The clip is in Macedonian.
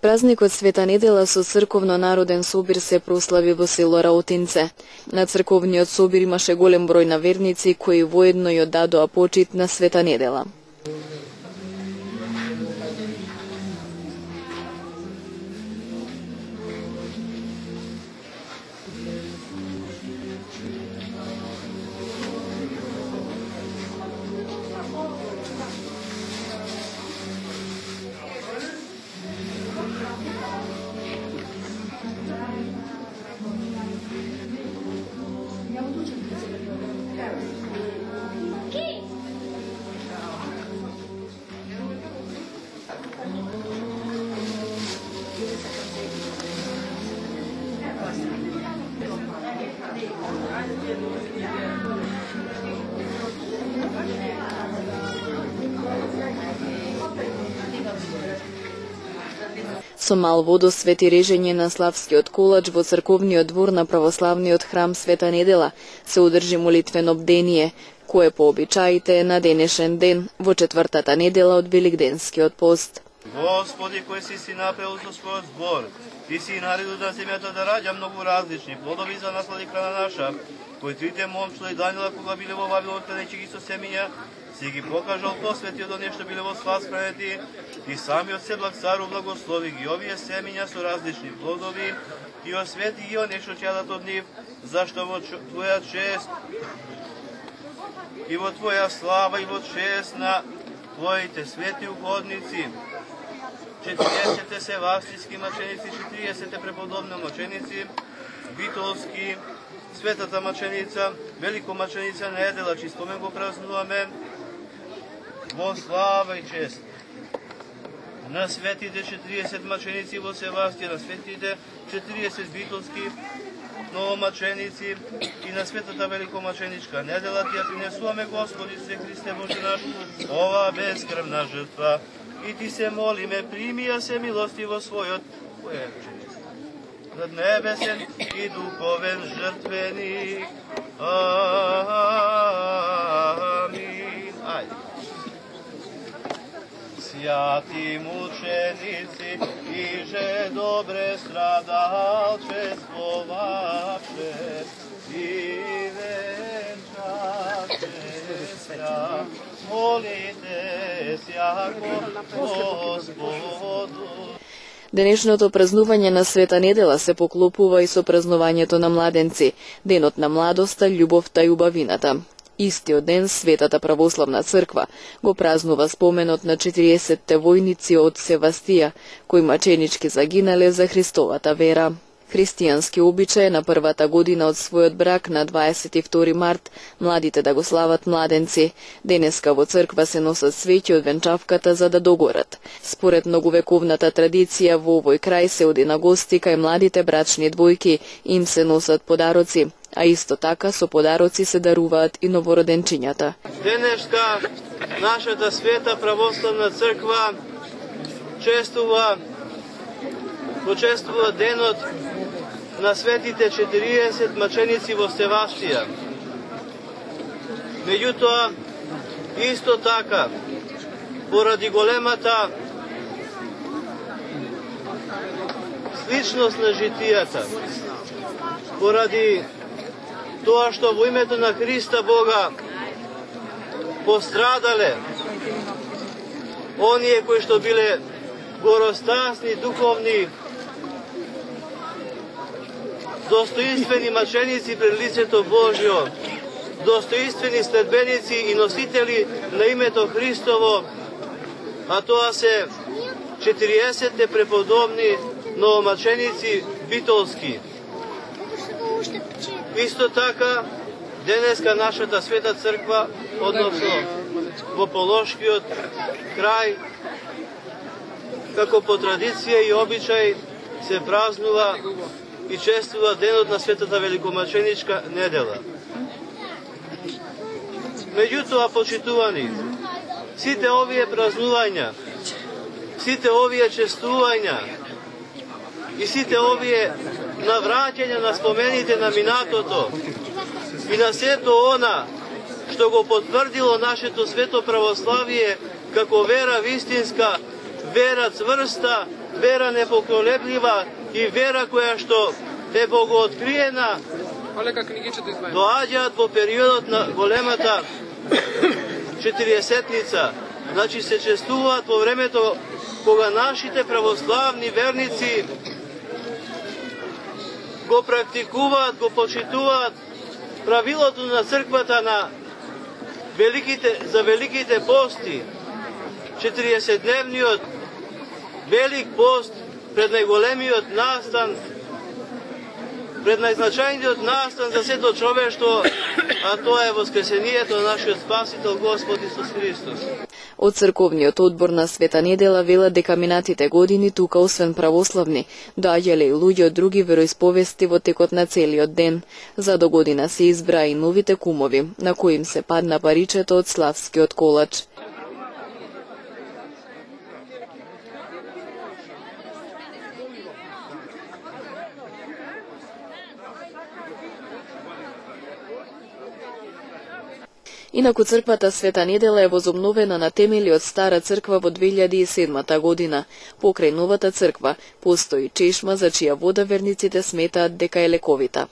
Празникот Света недела со црковно народен собир се прослави во село Раутинце. На црковниот собир имаше голем број на верници кои воедно ја дадоа почит на Света недела. Со мал водосвет и режење на славскиот колач во црковниот двор на православниот храм Света недела се одржи молитвено бдение, кое по обичаите е на денешен ден, во четвртата недела од Великденскиот пост. Господи, кој си направил со својот збор, ти си наредил да земјата да раѓа многу различни плодови за наслади храна наша, кои трите момчила и Данила кога биле во Вавилон тенејќи ги со семиња, си ги покажал посвети од нешто биле во слав спрети, и самиот Седлак цару благослови ги овие семиња со различни плодови, и освети ги нешто чадат од нив, зашто во Твоја чест и во Твоја слава и во чест на Твоите свети угодници, 40 севастијски маченици, 40 преподобни маченици, битолски, светата маченица, великомаченица недела, чиј спомен го празнуваме во слава и чест. На светите 40 маченици во Севастија, на светите 40 битолски новомаченици и на светата великомаченичка недела ти ја принесуваме, Господи се Христе Боже наш, ова безкрвна жртва. И ти се молиме, прими ја се милости во својот над небесен и духовен жртвеник. Амин. Ајде. Свјати мученици, иже добре страдалчествовавше и венчаше ся, молите сјако Господу. Денешното празнување на Света недела се поклопува и со празнувањето на младенци, денот на младоста, љубовта и убавината. Истиот ден Светата православна црква го празнува споменот на 40-те војници од Севастија, кои маченички загинале за Христовата вера. Христијански обичај на првата година од својот брак на 22 март младите да го слават младенци. Денеска во црква се носат свеќи од венчавката за да догорат. Според многовековната традиција во овој крај се оди на гости кај младите брачни двојки, им се носат подароци, а исто така со подароци се даруваат и новороденчињата. Денеска нашата Света православна црква почествува денот на светите 40 маченици во Севастија. Меѓутоа, исто така, поради големата сличност на житијата, поради тоа што во името на Христа Бога пострадале оние кои што биле горостасни, духовни, достоинствени маченици пред лицето Божјо, достоинствени следбеници и носители на името Христово, а тоа се 40 преподобни новомаченици битолски. Исто така, денеска нашата Света црква, односно во Полошкиот крај, како по традиција и обичај, се празнува и чествува денот на Светата великомаченичка недела. Меѓутоа, почитувани, сите овие празнувања, сите овие чествувања и сите овие навраќања на спомените на минатото и на сето она што го потврдило нашето свето православие како вера вистинска вера цврста, вера непоколеблива и вера која што е богооткриена, доаѓаат во периодот на големата 40-ница. Значи се чествуваат во времето кога нашите православни верници го практикуваат, го почитуваат правилото на црквата на за великите пости. 40-дневниот велик пост пред најголемиот настан, пред најзначајниот настан за сето човештво, а тоа е воскресението на нашиот Спасител Господ Исус Христос. Од црковниот одбор на Света недела велат дека минатите години тука освен православни, доаѓале и луѓе од други вероисповести во текот на целиот ден. За до година се избра и новите кумови, на кои им се падна паричето од славскиот колач. Инаку црквата Света недела е возобновена на темели од Стара црква во 2007 година. Покрај новата црква постои чешма за чија вода верниците сметаат дека е лековита.